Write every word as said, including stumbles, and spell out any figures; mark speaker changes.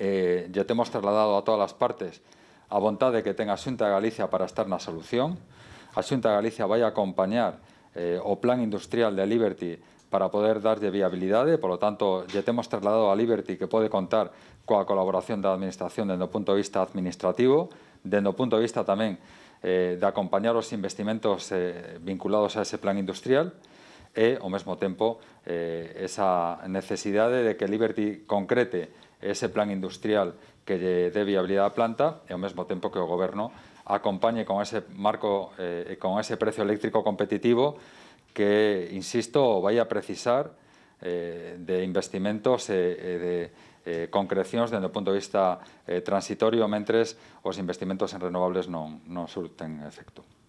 Speaker 1: eh, lle temos trasladado a todas as partes a vontade que ten a Xunta de Galicia para estar na solución. A Xunta de Galicia vai acompañar eh, o plan industrial de Liberty para poder darlle viabilidade, polo tanto, lle temos trasladado a Liberty que pode contar coa colaboración da Administración dende o punto de vista administrativo, dende o punto de vista tamén eh, de acompañar os investimentos eh, vinculados a ese plan industrial, e, ao mesmo tempo, eh, esa necesidade de que Liberty concrete ese plan industrial que lle dé viabilidade á planta e, ao mesmo tempo, que o Goberno acompañe con ese marco e eh, con ese precio eléctrico competitivo que, insisto, vai a precisar eh, de investimentos e eh, de eh, concrecións dende o punto de vista eh, transitorio, mentres os investimentos en renovables non, non surten efecto.